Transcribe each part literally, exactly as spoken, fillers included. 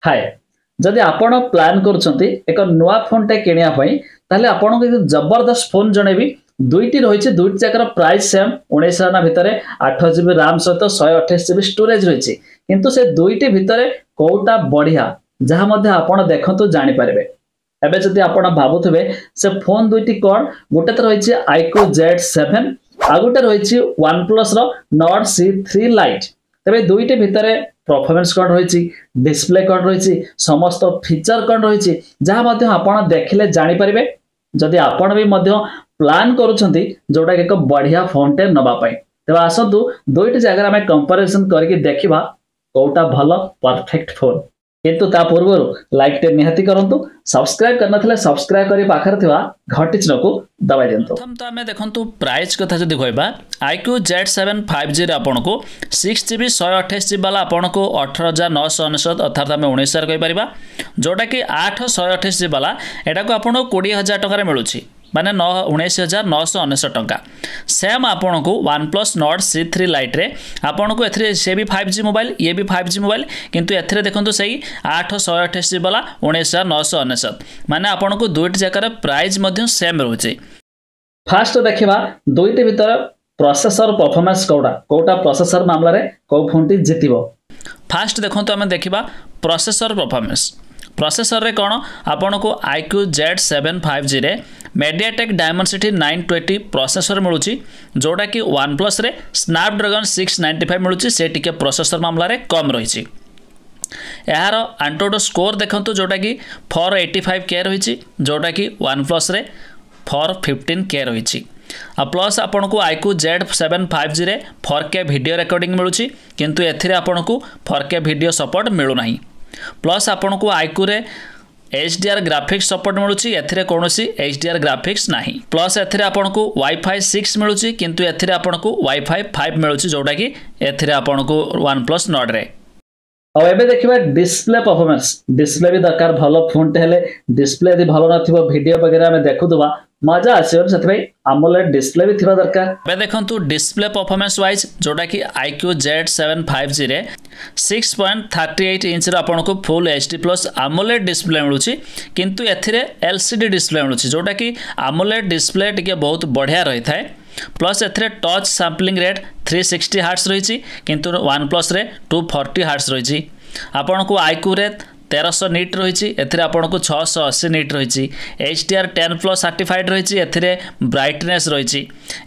ହାଏ, ଯଦି ଆପଣ ପ୍ଲାନ୍ କରୁଛନ୍ତି ଏକ ନୂଆ ଫୋନ୍ଟେ କିଣିବା ପାଇଁ, ତାହେଲେ ଆପଣଙ୍କୁ ଏକ ଜବରଦସ୍ତ ଫୋନ୍ ଜଣେଇବି। ଦୁଇଟି ରହିଛି, ଦୁଇଟି ଯାକର ପ୍ରାଇସ୍ ସେମ୍, ଉଣେଇଶ ହଜାର ଭିତରେ ଆଠ ଜିବି ରାମ୍ ସହିତ ଶହେ ଅଠେଇଶ ଜିବି ଷ୍ଟୋରେଜ ରହିଛି। କିନ୍ତୁ ସେ ଦୁଇଟି ଭିତରେ କୋଉଟା ବଢିଆ, ଯାହା ମଧ୍ୟ ଆପଣ ଦେଖନ୍ତୁ ଜାଣିପାରିବେ। ଏବେ ଯଦି ଆପଣ ଭାବୁଥିବେ ସେ ଫୋନ୍ ଦୁଇଟି କ'ଣ, ଗୋଟେ ତ ରହିଛି ଆଇକ୍ୟୁ ଜେଡ୍ ସେଭେନ୍, ଆଉ ଗୋଟେ ରହିଛି ୱାନ୍ ପ୍ଲସ୍ର ନର୍ଡ ସି ଥ୍ରୀ ଲାଇଟ୍। ତେବେ ଦୁଇଟି ଭିତରେ ପରଫର୍ମାନ୍ସ କ'ଣ ରହିଛି, ଡିସପ୍ଲେ କ'ଣ ରହିଛି, ସମସ୍ତ ଫିଚର କ'ଣ ରହିଛି, ଯାହା ମଧ୍ୟ ଆପଣ ଦେଖିଲେ ଜାଣିପାରିବେ। ଯଦି ଆପଣ ବି ମଧ୍ୟ ପ୍ଲାନ୍ କରୁଛନ୍ତି ଯୋଉଟାକି ଏକ ବଢିଆ ଫୋନ୍ଟେ ନେବା ପାଇଁ, ତେବେ ଆସନ୍ତୁ ଦୁଇଟି ଜାଗାରେ ଆମେ କମ୍ପାରିଜନ କରିକି ଦେଖିବା କୋଉଟା ଭଲ ପରଫେକ୍ଟ ଫୋନ୍। କିନ୍ତୁ ତା ପୂର୍ବରୁ ଲାଇକ୍ଟେ ନିହାତି କରନ୍ତୁ, ସବସ୍କ୍ରାଇବ କରିନଥିଲେ ସବସ୍କ୍ରାଇବ କରି ପାଖରେ ଥିବା ଘଣ୍ଟି ଚିହ୍ନକୁ ଦବାଇ ଦିଅନ୍ତୁ। ପ୍ରଥମ ତ ଆମେ ଦେଖନ୍ତୁ, ପ୍ରାଇସ୍ କଥା ଯଦି କହିବା, ଆଇକ୍ୟୁ ଜେଡ୍ ସେଭେନ୍ ଫାଇଭ୍ ଜିରେ ଆପଣଙ୍କୁ ସିକ୍ସ ଜିବି ଶହେ ଅଠେଇଶ ଜିବି ବାଲା ଆପଣଙ୍କୁ ଅଠର ହଜାର ନଅଶହ ଅନେଶତ, ଅର୍ଥାତ୍ ଆମେ ଉଣେଇଶ ହଜାର କହିପାରିବା। ଯେଉଁଟାକି ଆଠ ଶହେ ଅଠେଇଶ ଜିବି ବାଲା, ଏଟାକୁ ଆପଣଙ୍କୁ କୋଡ଼ିଏ ହଜାର ଟଙ୍କାରେ ମିଳୁଛି, ମାନେ ନଅ ଉଣେଇଶ ହଜାର ନଅଶହ ଅନେଶତ ଟଙ୍କା। ସେମ୍ ଆପଣଙ୍କୁ one plus Nord C three ଲାଇଟ୍ରେ ଆପଣଙ୍କୁ ଏଥିରେ ସେ ବି ଫାଇଭ୍ ଜି ମୋବାଇଲ, ଇଏ ବି ଫାଇଭ୍ ଜି ମୋବାଇଲ, କିନ୍ତୁ ଏଥିରେ ଦେଖନ୍ତୁ ସେଇ ଆଠ ଶହେ ଅଠେଇଶ ଜିବି ବାଲା ଉଣେଇଶ ହଜାର ନଅଶହ ଅନେଶତ, ମାନେ ଆପଣଙ୍କୁ ଦୁଇଟି ଜାଗାର ପ୍ରାଇସ୍ ମଧ୍ୟ ସେମ୍ ରହୁଛି। ଫାଷ୍ଟ ଦେଖିବା ଦୁଇଟି ଭିତରେ ପ୍ରୋସେସର ପରଫର୍ମାନ୍ସ କୋଉଟା କୋଉଟା, ପ୍ରୋସେସର ମାମଲାରେ କୋଉ ଫୋନଟି ଜିତିବ। ଫାଷ୍ଟ ଦେଖନ୍ତୁ, ଆମେ ଦେଖିବା ପ୍ରୋସେସର ପରଫର୍ମାନ୍ସ। ପ୍ରୋସେସରରେ କ'ଣ ଆପଣଙ୍କୁ ଆଇକ୍ୟୁ ଜେଡ୍ ସେଭେନ୍ ଫାଇଭ୍ ଜିରେ MediaTek Dimensity nine twenty processor ମିଳୁଛି, ଯେଉଁଟାକି ୱାନ୍ ପ୍ଲସ୍ରେ ସ୍ନାପଡ୍ରାଗନ୍ ସିକ୍ସ ନାଇଣ୍ଟି ଫାଇଭ୍ ମିଳୁଛି। ସେ ଟିକେ ପ୍ରୋସେସର ମାମଲାରେ କମ୍ ରହିଛି। ଏହାର ଆଣ୍ଟୁଟୁ ସ୍କୋର ଦେଖନ୍ତୁ, ଯେଉଁଟାକି ଫୋର୍ ଏଇଟି ଫାଇଭ୍ କେ ରହିଛି, ଯେଉଁଟାକି ୱାନ୍ ପ୍ଲସ୍ରେ ଫୋର୍ ଫିଫ୍ଟିନ୍ କେ ରହିଛି। ଆଉ ପ୍ଲସ୍ ଆପଣଙ୍କୁ ଆଇକ୍ୟୁ ଜେଡ୍ ସେଭେନ୍ ଫାଇଭ୍ ଜିରେ ଫୋର୍ କେ ଭିଡ଼ିଓ ରେକର୍ଡ଼ିଂ ମିଳୁଛି, କିନ୍ତୁ ଏଥିରେ ଆପଣଙ୍କୁ ଫୋର୍ କେ ଭିଡ଼ିଓ ସପୋର୍ଟ ମିଳୁନାହିଁ। ପ୍ଲସ୍ ଆପଣଙ୍କୁ ଆଇକ୍ୟୁରେ H D R graphics support ମିଳୁଛି, ଏଥିରେ କୌଣସି ଏଚ୍ ଡି ଆର୍ ଗ୍ରାଫିକ୍ସ ନାହିଁ। ପ୍ଲସ୍ ଏଥିରେ ଆପଣଙ୍କୁ ୱାଇଫାଇ ସିକ୍ସ ମିଳୁଛି, କିନ୍ତୁ ଏଥିରେ ଆପଣଙ୍କୁ ୱାଇଫାଇ ଫାଇଭ୍ ମିଳୁଛି, ଯେଉଁଟାକି ଏଥିରେ ଆପଣଙ୍କୁ ୱାନ୍ ପ୍ଲସ୍ ନର୍ଡରେ। ଆଉ ଏବେ ଦେଖିବା ଡିସପ୍ଲେ ପରଫର୍ମାନ୍ସ। ଡିସପ୍ଲେ ବି ଦରକାର, ଭଲ ଫୋନଟେ ହେଲେ ଡିସପ୍ଲେ ଯଦି ଭଲ ନଥିବ, ଭିଡ଼ିଓ ବଗେରା ଆମେ ଦେଖୁଥିବା ମଜା ଆସିବନି। ସେଥିପାଇଁ ଆମୋଲେଡ୍ ଡିସପ୍ଲେ ବି ଥିବା ଦରକାର। ଏବେ ଦେଖନ୍ତୁ ଡିସପ୍ଲେ ପରଫର୍ମାନ୍ସ ୱାଇଜ୍, ଯେଉଁଟାକି ଆଇକ୍ୟୁ ଜେଡ୍ ସେଭେନ୍ ଫାଇଭ୍ ଜିରେ ସିକ୍ସ ପଏଣ୍ଟ ଥାର୍ଟି ଏଇଟ୍ ଇଞ୍ଚର ଆପଣଙ୍କୁ full H D plus AMOLED display ମିଳୁଛି, କିନ୍ତୁ ଏଥିରେ ଏଲ୍ ସି ଡି ଡିସପ୍ଲେ ମିଳୁଛି, ଯେଉଁଟାକି ଆମୋଲେଡ୍ ଡିସପ୍ଲେ ଟିକେ ବହୁତ ବଢ଼ିଆ ରହିଥାଏ। ପ୍ଲସ୍ ଏଥିରେ touch sampling rate three sixty hertz ରହିଛି, କିନ୍ତୁ ୱାନ୍ ପ୍ଲସ୍ରେ ଟୁ ଫର୍ଟି ହାର୍ଟସ୍ ରହିଛି। ଆପଣଙ୍କୁ ଆଇକ୍ୟୁରେ ତେରଶହ ନିଟ୍ ରହିଛି, ଏଥିରେ ଆପଣଙ୍କୁ ଛଅଶହ ଅଶୀ ନିଟ୍ ରହିଛି। H D R ten plus certified ରହିଛି, ଏଥିରେ ବ୍ରାଇଟନେସ୍ ରହିଛି।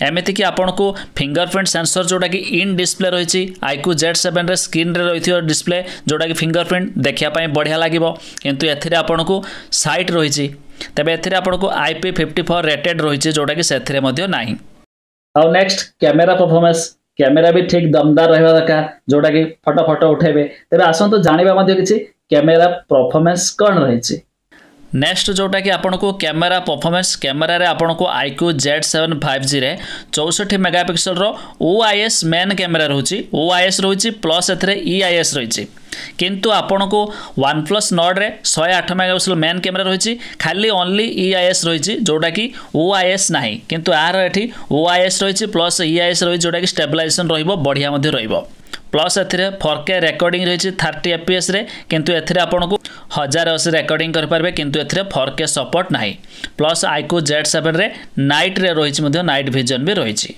ଏମିତିକି ଆପଣଙ୍କୁ ଫିଙ୍ଗର ପ୍ରିଣ୍ଟ ସେନ୍ସର ଯେଉଁଟାକି ଇନ୍ ଡିସପ୍ଲେ ରହିଛି। ଆଇକ୍ୟୁ ଜେଡ୍ ସେଭେନ୍ରେ ସ୍କ୍ରିନ୍ରେ ରହିଥିବ ଡିସପ୍ଲେ, ଯେଉଁଟାକି ଫିଙ୍ଗର ପ୍ରିଣ୍ଟ ଦେଖିବା ପାଇଁ ବଢ଼ିଆ ଲାଗିବ, କିନ୍ତୁ ଏଥିରେ ଆପଣଙ୍କୁ ସାଇଟ୍ ରହିଛି। ତେବେ ଏଥିରେ ଆପଣଙ୍କୁ I P fifty four rated ରହିଛି, ଯେଉଁଟାକି ସେଥିରେ ମଧ୍ୟ ନାହିଁ। ଆଉ ନେକ୍ସଟ କ୍ୟାମେରା ପରଫର୍ମାନ୍ସ। କ୍ୟାମେରା ବି ଠିକ ଦମଦାର ରହିବା ଦରକାର, ଯୋଉଟାକି ଫଟୋ ଫଟୋ ଉଠେଇବେ। ତେବେ ଆସନ୍ତୁ ଜାଣିବା ମଧ୍ୟ କିଛି କ୍ୟାମେରା ପରଫର୍ମାନ୍ସ କ'ଣ ରହିଛି। ନେକ୍ସଟ ଯେଉଁଟାକି ଆପଣଙ୍କୁ କ୍ୟାମେରା ପରଫର୍ମାନ୍ସ, କ୍ୟାମେରାରେ ଆପଣଙ୍କୁ ଆଇକ୍ୟୁ ଜେଡ୍ ସେଭେନ୍ ଫାଇଭ୍ ଜିରେ ଚଉଷଠି ମେଗାପିକ୍ସେଲର ଓ I S main camera ରହୁଛି, ଓ I S ରହୁଛି, ପ୍ଲସ୍ ଏଥିରେ ଇ I S ରହିଛି। କିନ୍ତୁ ଆପଣଙ୍କୁ ୱାନ୍ ପ୍ଲସ୍ ନର୍ଡରେ ଶହେ ଆଠ ମେଗାପିକ୍ସେଲ ମେନ୍ କ୍ୟାମେରା ରହିଛି, ଖାଲି ଓନ୍ଲି ଇ I S ରହିଛି, ଯେଉଁଟାକି ଓ I S ନାହିଁ। କିନ୍ତୁ ଏହାର ଏଠି ଓ I S ରହିଛି, ପ୍ଲସ୍ ଇ I S ରହିଛି, ଯେଉଁଟାକି ଷ୍ଟେବିଲାଇଜେସନ୍ ରହିବ, ବଢ଼ିଆ ମଧ୍ୟ ରହିବ। ପ୍ଲସ୍ ଏଥିରେ ଫୋର୍ କେ ରେକର୍ଡ଼ିଂ ରହିଛି ଥାର୍ଟି ଏଫ୍ ପି ଏସ୍ରେ, କିନ୍ତୁ ଏଥିରେ ଆପଣଙ୍କୁ ହଜାର ଅଶୀ ରେକର୍ଡ଼ିଂ କରିପାରିବେ, କିନ୍ତୁ ଏଥିରେ ଫୋର୍ କେ ସପୋର୍ଟ ନାହିଁ। ପ୍ଲସ୍ ଆଇକ୍ୟୁ ଜେଡ୍ ସେଭେନ୍ରେ ନାଇଟ୍ରେ ରହିଛି ମଧ୍ୟ, ନାଇଟ୍ ଭିଜନ୍ ବି ରହିଛି।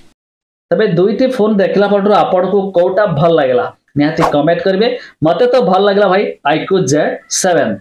ତେବେ ଦୁଇଟି ଫୋନ୍ ଦେଖିଲା ପରଠୁ ଆପଣଙ୍କୁ କୋଉଟା ଭଲ ଲାଗିଲା, ନିହାତି କମେଣ୍ଟ କରିବେ। ମତେ ତ ଭଲ ଲାଗିଲା ଭାଇ ଆଇକ୍ୟୁ ଜେଡ୍ ସେଭେନ୍।